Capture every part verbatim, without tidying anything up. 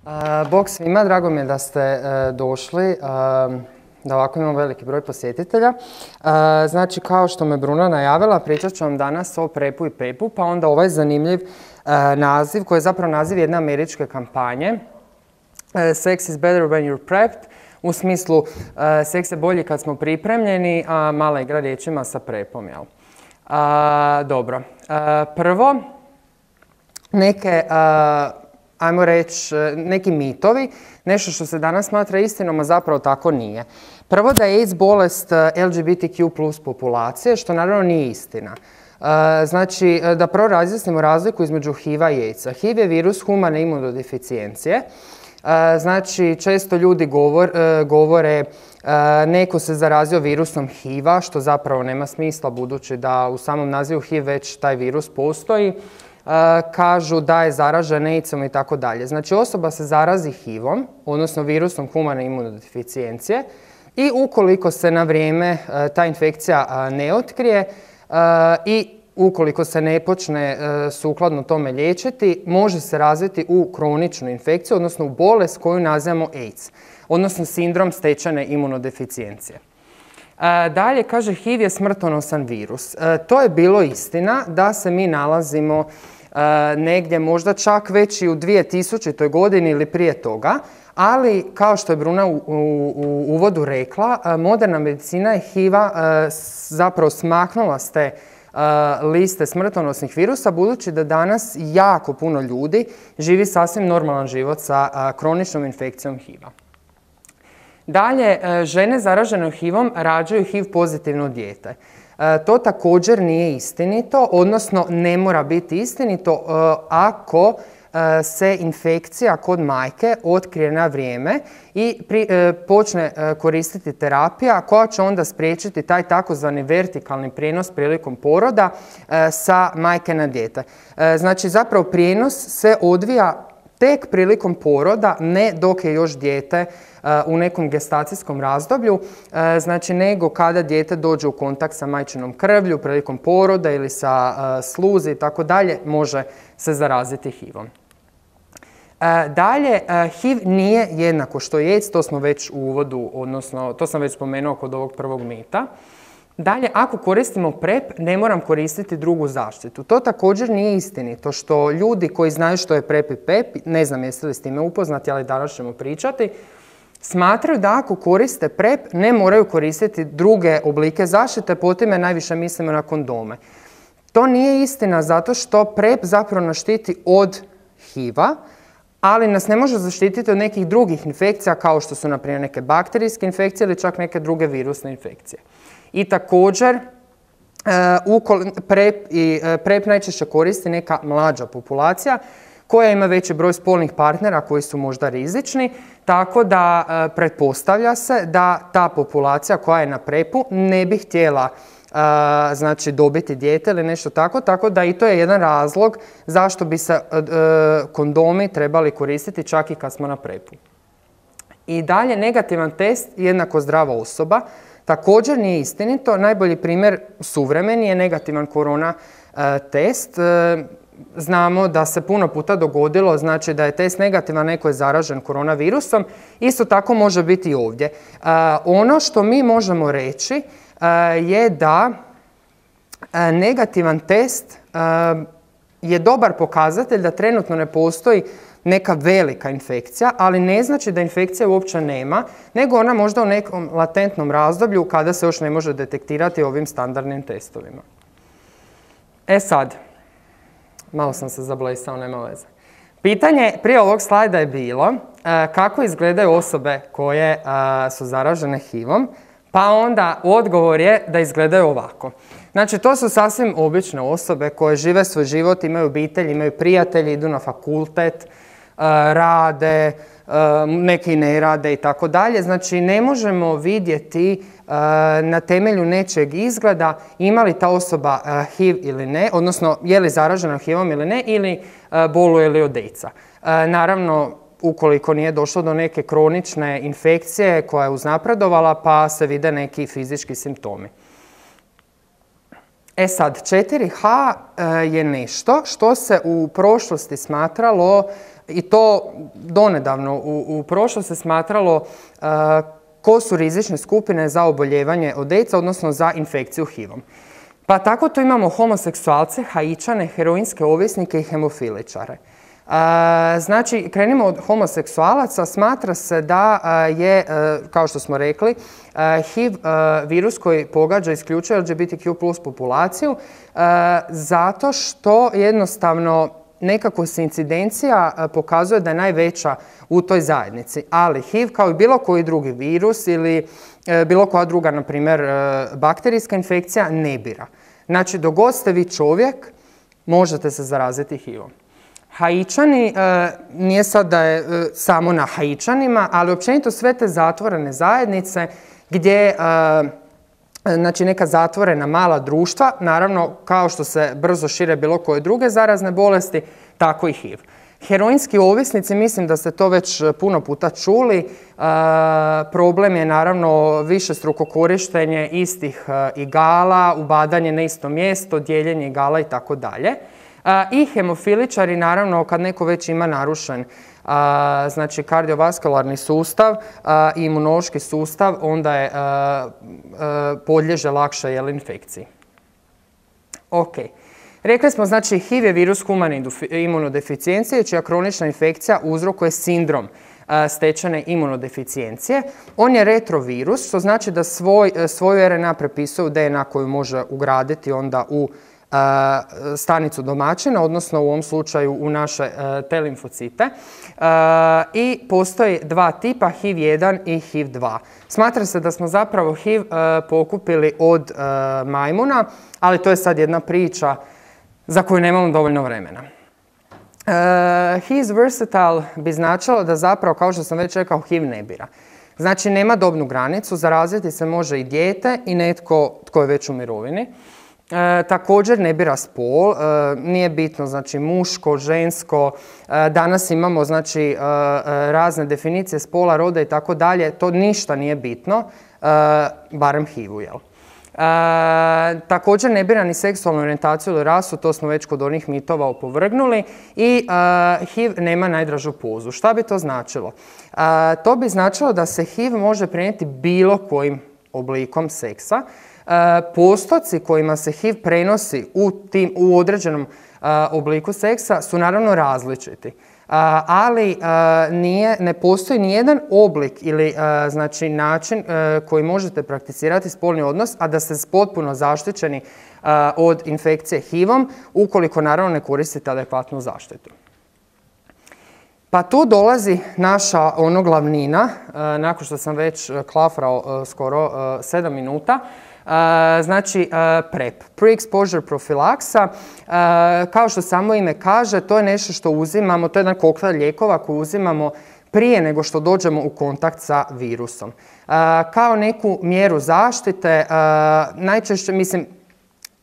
Uh, Bog svima, drago mi je da ste uh, došli, uh, da ovako imamo veliki broj posjetitelja. Uh, znači, kao što me Bruna najavila, pričat ću vam danas o prepu i pepu, pa onda ovaj zanimljiv uh, naziv, koji je zapravo naziv jedne američke kampanje. Uh, Sex is better when you're prepped, u smislu uh, seks je bolji kad smo pripremljeni, a mala igra riječima sa prepom, jel? Uh, dobro, uh, prvo, neke... Uh, ajmo reći, neki mitovi, nešto što se danas smatra istinom, a zapravo tako nije. Prvo da je AIDS bolest L G B T Q plus populacije, što naravno nije istina. Znači, da prvo razjasnimo razliku između H I V-a i AIDS-a. H I V je virus humane imunodeficijencije. Znači, često ljudi govor, govore neko se zarazio virusom H I V-a, što zapravo nema smisla budući da u samom nazivu H I V već taj virus postoji. Uh, kažu da je zaražen AIDS-om i tako dalje. Znači, osoba se zarazi H I V-om, odnosno virusom humane imunodeficijencije, i ukoliko se na vrijeme uh, ta infekcija uh, ne otkrije uh, i ukoliko se ne počne uh, sukladno tome liječiti, može se razviti u kroničnu infekciju, odnosno u bolest koju nazivamo AIDS, odnosno sindrom stečene imunodeficijencije. Uh, dalje, kaže, H I V je smrtonosan virus. Uh, to je bilo istina da se mi nalazimo uh, negdje možda čak već i u dvije tisućitoj godini ili prije toga, ali kao što je Bruna u, u, u uvodu rekla, uh, moderna medicina je H I V-a uh, zapravo smaknula s te uh, liste smrtonosnih virusa, budući da danas jako puno ljudi živi sasvim normalan život sa uh, kroničnom infekcijom H I V-a. Dalje, žene zaražene H I V-om rađaju H I V pozitivno dijete. To također nije istinito, odnosno ne mora biti istinito ako se infekcija kod majke otkrije na vrijeme i pri, počne koristiti terapija koja će onda spriječiti taj takozvani vertikalni prijenos prilikom poroda sa majke na dijete. Znači, zapravo prijenos se odvija tek prilikom poroda, ne dok je još dijete uh, u nekom gestacijskom razdoblju, uh, znači nego kada dijete dođe u kontakt sa majčinom krvlju prilikom poroda ili sa uh, sluzi i tako dalje, može se zaraziti H I V-om. Uh, dalje, uh, H I V nije jednako što je AIDS, to smo već u uvodu, odnosno to sam već spomenuo kod ovog prvog mita. Dalje, ako koristimo prep, ne moram koristiti drugu zaštitu. To također nije istinito, što ljudi koji znaju što je prep i pep, ne znam jeste li s time upoznati, ali danas ćemo pričati, smatraju da ako koriste prep, ne moraju koristiti druge oblike zaštite, po time najviše mislimo na kondome. To nije istina zato što prep zapravo nas štiti od H I V-a, ali nas ne može zaštititi od nekih drugih infekcija, kao što su, na primjer, neke bakterijske infekcije ili čak neke druge virusne infekcije. I također, prep, i, prep najčešće koristi neka mlađa populacija koja ima veći broj spolnih partnera koji su možda rizični, tako da pretpostavlja se da ta populacija koja je na prepu ne bi htjela znači, dobiti dijete ili nešto tako, tako da i to je jedan razlog zašto bi se kondomi trebali koristiti čak i kad smo na prepu. I dalje, negativan test jednako zdrava osoba. Također nije istinito. Najbolji primjer suvremeni je negativan korona e, test. E, znamo da se puno puta dogodilo, znači da je test negativan, neko je zaražen koronavirusom. Isto tako može biti i ovdje. E, ono što mi možemo reći e, je da e, negativan test e, je dobar pokazatelj da trenutno ne postoji neka velika infekcija, ali ne znači da infekcija uopće nema, nego ona možda u nekom latentnom razdoblju kada se još ne može detektirati ovim standardnim testovima. E sad, malo sam se zablesao, nema veze. Pitanje prije ovog slajda je bilo kako izgledaju osobe koje su zaražene H I V-om, pa onda odgovor je da izgledaju ovako. Znači, to su sasvim obične osobe koje žive svoj život, imaju obitelj, imaju prijatelji, idu na fakultet, rade, neki ne rade i tako dalje. Znači, ne možemo vidjeti na temelju nečeg izgleda ima li ta osoba H I V ili ne, odnosno je li zaražena H I V-om ili ne, ili boluje li od AIDS-a. Naravno, ukoliko nije došlo do neke kronične infekcije koja je uznapredovala, pa se vide neki fizički simptomi. E sad, četiri H je nešto što se u prošlosti smatralo i to donedavno u, u prošlosti se smatralo ko su rizične skupine za oboljevanje od AIDS-a, odnosno za infekciju H I V-om. Pa tako tu imamo homoseksualce, haičane, heroinske ovisnike i hemofiličare. Znači, krenimo od homoseksualaca, smatra se da je, kao što smo rekli, H I V virus koji pogađa isključuje L G B T Q plus populaciju zato što jednostavno nekako se incidencija pokazuje da je najveća u toj zajednici, ali H I V kao i bilo koji drugi virus ili bilo koja druga, na primjer, bakterijska infekcija ne bira. Znači, dok god ste vi čovjek, možete se zaraziti H I V-om. Haičani, nije sad da je samo na Haičanima, ali općenito sve te zatvorene zajednice gdje, znači neka zatvorena mala društva, naravno kao što se brzo šire bilo koje druge zarazne bolesti, tako i H I V. Heroinski ovisnici, mislim da ste to već puno puta čuli, problem je naravno višestruko korištenje istih igala, ubadanje na isto mjesto, dijeljenje igala i tako dalje. I hemofiličari, naravno, kad neko već ima narušen znači kardiovaskularni sustav i imunološki sustav, onda je podliježe lakše jel, infekciji. Ok. Rekli smo, znači, H I V je virus humane imunodeficijencije, čija kronična infekcija uzrokuje sindrom stečene imunodeficijencije. On je retrovirus, što znači da svoj, svoju R N A prepisuje u D N A koju može ugraditi onda u stanicu domaćina, odnosno u ovom slučaju u naše T limfocite. I postoji dva tipa, H I V jedan i H I V dva. Smatra se da smo zapravo H I V pokupili od majmuna, ali to je sad jedna priča za koju nemamo dovoljno vremena. He is versatile bi značilo da zapravo, kao što sam već rekao, H I V ne bira. Znači, nema dobnu granicu, zaraziti se može i dijete i netko tko je već u mirovini. E, također ne bira spol, e, nije bitno znači muško, žensko, e, danas imamo znači e, razne definicije spola, roda i tako dalje, to ništa nije bitno, e, barem H I V-u, jel? E, također ne bira ni seksualnu orijentaciju ili rasu, to smo već kod onih mitova opovrgnuli i e, H I V nema najdražu pozu. Šta bi to značilo? E, to bi značilo da se H I V može prenijeti bilo kojim oblikom seksa. Postoci kojima se H I V prenosi u, tim, u određenom obliku seksa su naravno različiti, ali nije, ne postoji nijedan oblik ili znači, način koji možete prakticirati spolni odnos, a da ste potpuno zaštićeni od infekcije H I V-om, ukoliko naravno ne koristite adekvatnu zaštitu. Pa tu dolazi naša ono glavnina, nakon što sam već klafrao skoro sedam minuta, znači PrEP, Pre-Exposure Profilaksa. Kao što samo ime kaže, to je nešto što uzimamo, to je jedan koktel lijekova koji uzimamo prije nego što dođemo u kontakt sa virusom. Kao neku mjeru zaštite, najčešće, mislim,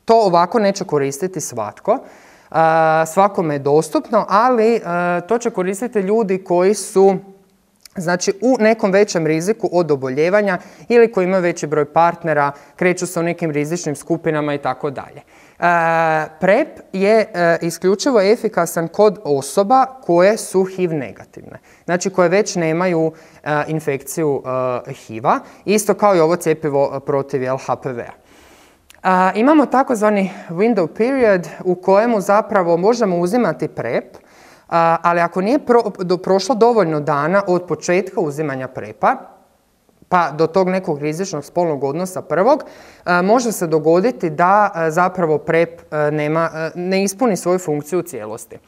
to ovako neće koristiti svatko. Svakome je dostupno, ali to će koristiti ljudi koji su znači u nekom većem riziku od oboljevanja ili koji imaju veći broj partnera, kreću se u nekim rizičnim skupinama i tako dalje. PrEP je isključivo efikasan kod osoba koje su H I V negativne, znači koje već nemaju infekciju H I V-a, isto kao i ovo cjepivo protiv H P V-a. Imamo takozvani window period u kojemu zapravo možemo uzimati PrEP, ali ako nije pro, do, prošlo dovoljno dana od početka uzimanja PrEP-a, pa do tog nekog rizičnog spolnog odnosa prvog, može se dogoditi da zapravo PrEP nema, ne ispuni svoju funkciju u cijelosti.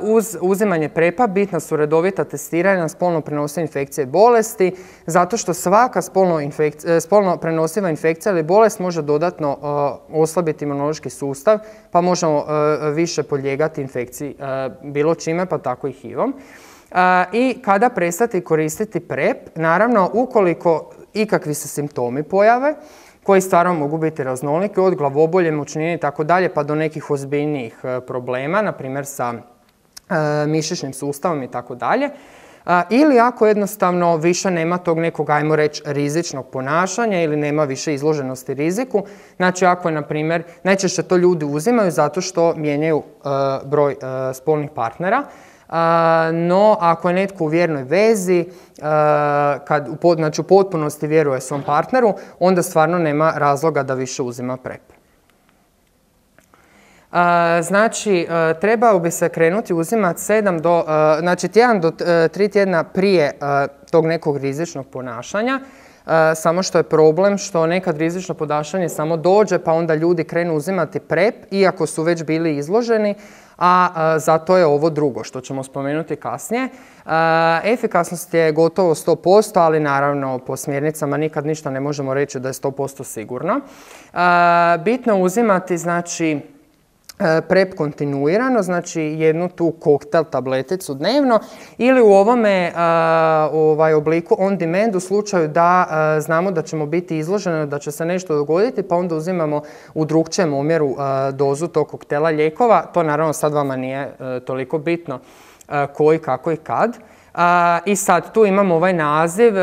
Uz uzimanje PrEP-a bitna su redovita testiranja na spolno prenosive infekcije i bolesti, zato što svaka spolno, infekcija, spolno prenosiva infekcija ili bolest može dodatno uh, oslabiti imunološki sustav, pa možemo uh, više podlijegati infekciji uh, bilo čime, pa tako i H I V-om. Uh, I kada prestati koristiti PrEP, naravno ukoliko ikakvi se simptomi pojave, koji stvarno mogu biti raznoliki, od glavobolje, mučnine i tako dalje, pa do nekih ozbiljnijih problema, na primjer sa e, mišićnim sustavom i tako dalje. Ili ako jednostavno više nema tog nekog, ajmo reći, rizičnog ponašanja ili nema više izloženosti riziku. Znači ako je, na primjer, najčešće to ljudi uzimaju zato što mijenjaju e, broj e, spolnih partnera, no ako je netko u vjernoj vezi, kad znači, u potpunosti vjeruje svom partneru, onda stvarno nema razloga da više uzima prep. Znači, trebao bi se krenuti uzimati sedam do, znači tjedan do tri tjedna prije tog nekog rizičnog ponašanja. Samo što je problem što nekad rizično ponašanje samo dođe pa onda ljudi krenu uzimati prep iako su već bili izloženi, a zato je ovo drugo što ćemo spomenuti kasnije. Efikasnost je gotovo sto posto, ali naravno po smjernicama nikad ništa ne možemo reći da je sto posto sigurno. Bitno je uzimati znači prep kontinuirano, znači jednu tu koktel tableticu dnevno ili u ovome ovaj, obliku on demand u slučaju da znamo da ćemo biti izloženi, da će se nešto dogoditi, pa onda uzimamo u drugčijem omjeru dozu tog koktela lijekova. To naravno sad vama nije toliko bitno koji, kako i kad. I sad tu imamo ovaj naziv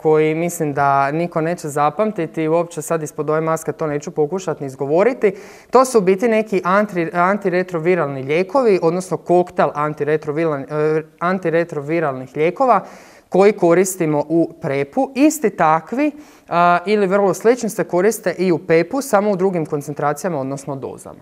koji mislim da niko neće zapamtiti i uopće sad ispod ove maske to neću pokušati ni izgovoriti. To su u biti neki antiretroviralni lijekovi, odnosno koktel antiretroviralnih lijekova koji koristimo u prepu. Isti takvi ili vrlo slični se koriste i u pepu, samo u drugim koncentracijama, odnosno dozama.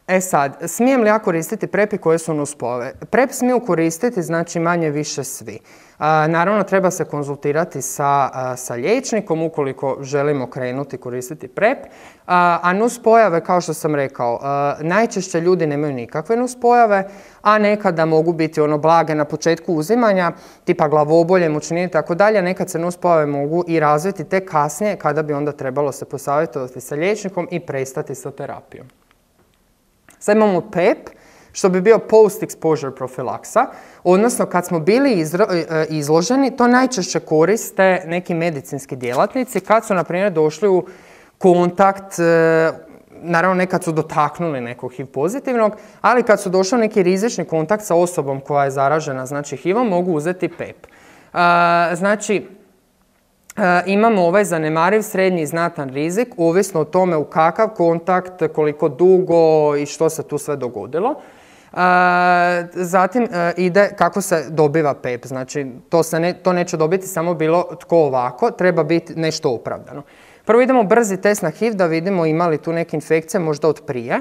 E sad, smijem li ja koristiti prepi koje su nuspojave? Prep smiju koristiti, znači manje više svi. A, naravno, treba se konzultirati sa, a, sa liječnikom ukoliko želimo krenuti koristiti prep. A, a nuspojave, kao što sam rekao, a, najčešće ljudi nemaju nikakve nuspojave, a nekada mogu biti ono blage na početku uzimanja, tipa glavobolje, mučnine i tako dalje. Nekad se nuspojave mogu i razviti tek kasnije kada bi onda trebalo se posavjetovati sa liječnikom i prestati sa terapijom. Sad imamo pep, što bi bio post-exposure profilaksa, odnosno kad smo bili izloženi, to najčešće koriste neki medicinski djelatnici kad su, na primjer, došli u kontakt, naravno nekad su dotaknuli nekog H I V pozitivnog, ali kad su došli u neki rizični kontakt sa osobom koja je zaražena, znači H I V-om, mogu uzeti pep. Znači, E, imamo ovaj zanemariv, srednji i znatan rizik, ovisno o tome u kakav kontakt, koliko dugo i što se tu sve dogodilo. E, zatim e, ide kako se dobiva pep, znači to, se ne, to neće dobiti samo bilo tko ovako, treba biti nešto opravdano. Prvo idemo brzi test na H I V da vidimo ima li tu neke infekcije možda od prije.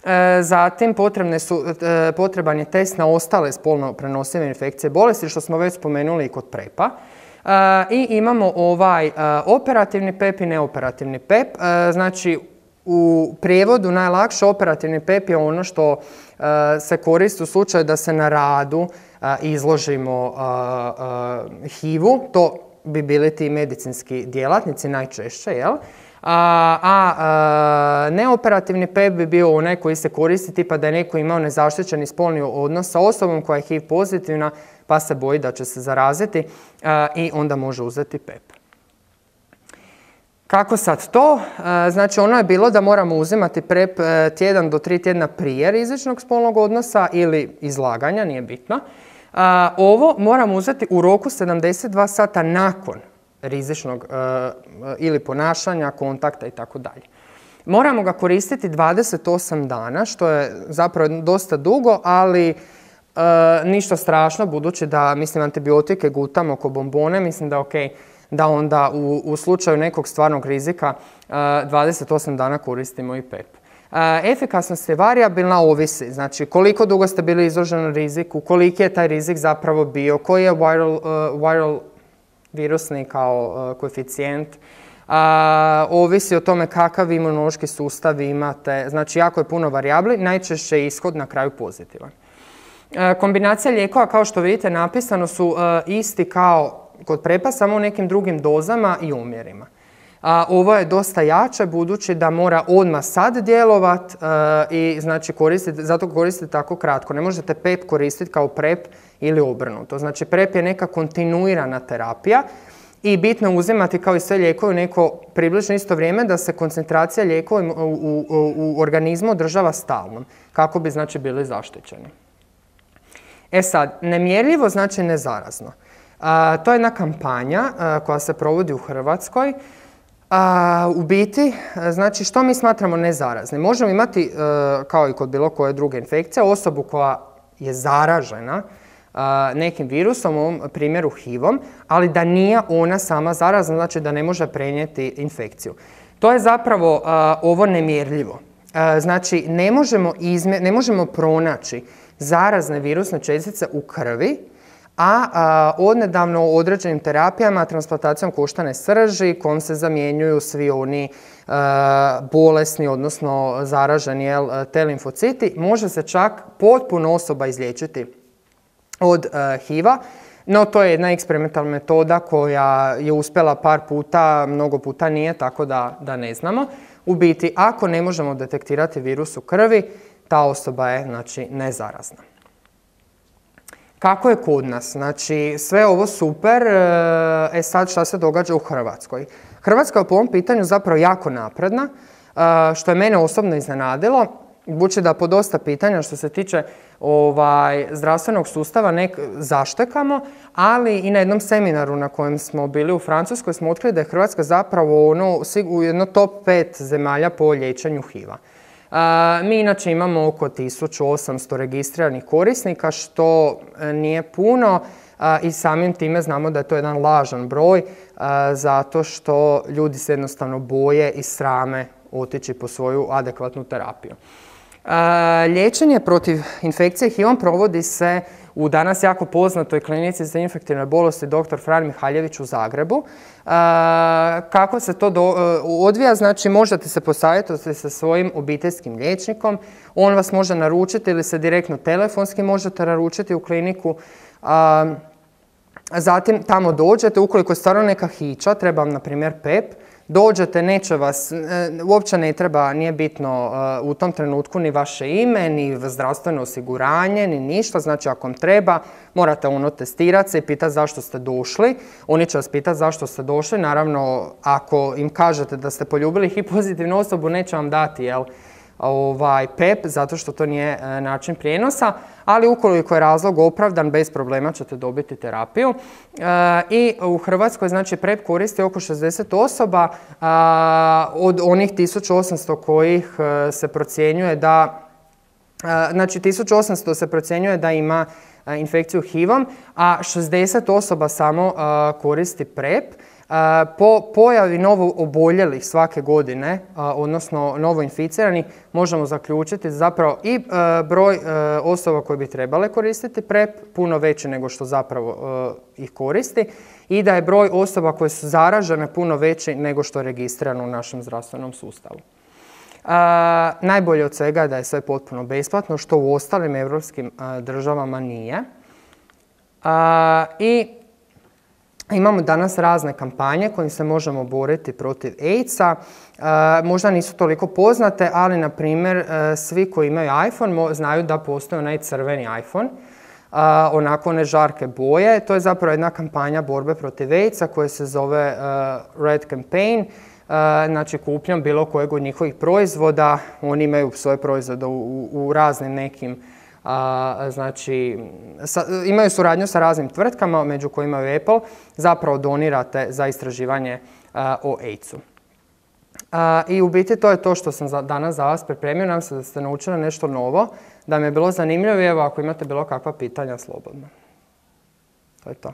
E, zatim potrebne su, e, potreban je test na ostale spolno prenosive infekcije bolesti, što smo već spomenuli i kod prepa. Uh, I imamo ovaj uh, operativni pep i neoperativni pep. Uh, znači, u prijevodu najlakše operativni pep je ono što uh, se koristi u slučaju da se na radu uh, izložimo uh, uh, H I V-u. To bi bili ti medicinski djelatnici najčešće, jel? A, a, a neoperativni pep bi bio onaj koji se koristi tipa da je neko imao nezaštićeni spolni odnos sa osobom koja je H I V pozitivna pa se boji da će se zaraziti a, i onda može uzeti pep. Kako sad to? A, znači ono je bilo da moramo uzimati prep a, tjedan do tri tjedna prije rizičnog spolnog odnosa ili izlaganja, nije bitno. A, ovo moramo uzeti u roku sedamdeset dva sata nakon rizičnog uh, ili ponašanja, kontakta i tako dalje. Moramo ga koristiti dvadeset osam dana, što je zapravo dosta dugo, ali uh, ništa strašno, budući da, mislim, antibiotike gutamo oko bombone, mislim da je ok da onda u, u slučaju nekog stvarnog rizika uh, dvadeset osam dana koristimo i pep. Uh, efikasnost je varijabilna, ovisi, znači koliko dugo ste bili izloženi riziku, koliki je taj rizik zapravo bio, koji je viral, uh, viral virusni kao uh, koeficijent, uh, ovisi o tome kakav imunološki sustav imate, znači jako je puno varijabli, najčešće je ishod na kraju pozitivan. Uh, kombinacija lijekova, kao što vidite napisano, su uh, isti kao kod prepa, samo u nekim drugim dozama i umjerima. Uh, ovo je dosta jače, budući da mora odmah sad djelovat uh, i znači koristiti, zato koristite tako kratko. Ne možete pep koristiti kao prep ili obrnuto. Znači prep je neka kontinuirana terapija i bitno je uzimati kao i sve lijekove u neko približno isto vrijeme da se koncentracija lijekova u, u, u, u organizmu održava stalnom, kako bi znači bili zaštićeni. E sad, nemjerljivo znači nezarazno. Uh, to je jedna kampanja uh, koja se provodi u Hrvatskoj. A, u biti, znači što mi smatramo nezaraznim? Možemo imati, kao i kod bilo koje druge infekcije, osobu koja je zaražena nekim virusom, u ovom primjeru H I V-om, ali da nije ona sama zarazna, znači da ne može prenijeti infekciju. To je zapravo ovo nemjerljivo. Znači, ne možemo, izmje, ne možemo pronaći zarazne virusne čestice u krvi, a, a odnedavno određenim terapijama, transplantacijom koštane srži, kojom se zamjenjuju svi oni a, bolesni, odnosno zaraženi jel, T limfociti, može se čak potpuno osoba izliječiti od a, H I V-a. No, to je jedna eksperimentalna metoda koja je uspjela par puta, mnogo puta nije, tako da, da ne znamo. U biti, ako ne možemo detektirati virus u krvi, ta osoba je, znači, nezarazna. Kako je kod nas? Znači, sve ovo super, e sad šta se događa u Hrvatskoj? Hrvatska je po ovom pitanju zapravo jako napredna, što je mene osobno iznenadilo, budući da po dosta pitanja što se tiče ovaj, zdravstvenog sustava nek zaštekamo, ali i na jednom seminaru na kojem smo bili u Francuskoj smo otkrili da je Hrvatska zapravo ono, u jedno top pet zemalja po liječenju H I V-a. Uh, mi inače imamo oko tisuću osamsto registriranih korisnika, što nije puno uh, i samim time znamo da je to jedan lažan broj, uh, zato što ljudi se jednostavno boje i srame otići po svoju adekvatnu terapiju. Uh, liječenje protiv infekcije H I V-om provodi se u danas jako poznatoj klinici za infektivne bolesti doktor Fran Mihaljević u Zagrebu. Uh, kako se to do, uh, odvija? Znači, možete se posavjetovati sa svojim obiteljskim liječnikom. On vas može naručiti ili se direktno telefonski možete naručiti u kliniku. Uh, zatim tamo dođete, ukoliko je stvarno neka hića, treba vam na primjer P E P, dođete, neće vas, uopće ne treba, nije bitno u tom trenutku ni vaše ime, ni zdravstveno osiguranje, ni ništa. Znači, ako vam treba, morate ono testirati se i pitati zašto ste došli. Oni će vas pitati zašto ste došli. Naravno, ako im kažete da ste poljubili H I V pozitivnu osobu, neće vam dati, jel, ovaj, P E P, zato što to nije e, način prijenosa, ali ukoliko je razlog opravdan, bez problema ćete dobiti terapiju. E, I u Hrvatskoj, znači, P E P koristi oko šezdeset osoba, a, od onih tisuću osamsto kojih e, se procjenjuje da, a, znači, tisuću osamsto se procjenjuje da ima a, infekciju H I V-om, a šezdeset osoba samo a, koristi P E P. Po pojavi novo oboljelih svake godine, odnosno novo inficiranih, možemo zaključiti zapravo i broj osoba koje bi trebale koristiti P E P puno veći nego što zapravo ih koristi i da je broj osoba koje su zaražene puno veći nego što je registrirano u našem zdravstvenom sustavu. A, najbolje od svega je da je sve potpuno besplatno, što u ostalim europskim a, državama nije. A, I imamo danas razne kampanje kojim se možemo boriti protiv AIDS-a. E, možda nisu toliko poznate, ali na primjer e, svi koji imaju iPhone znaju da postoji onaj crveni iPhone, e, onako one žarke boje. To je zapravo jedna kampanja borbe protiv AIDS-a koja se zove e, Red Campaign. E, znači, kupnjom bilo kojeg od njihovih proizvoda, oni imaju svoje proizvode u, u raznim nekim A, znači, sa, imaju suradnju sa raznim tvrtkama, među kojima je Apple, zapravo donirate za istraživanje a, o AIDS-u. I u biti to je to što sam za, danas za vas pripremio. Nam se da ste naučili nešto novo, da mi je bilo zanimljivo i evo ako imate bilo kakva pitanja, slobodno. To je to.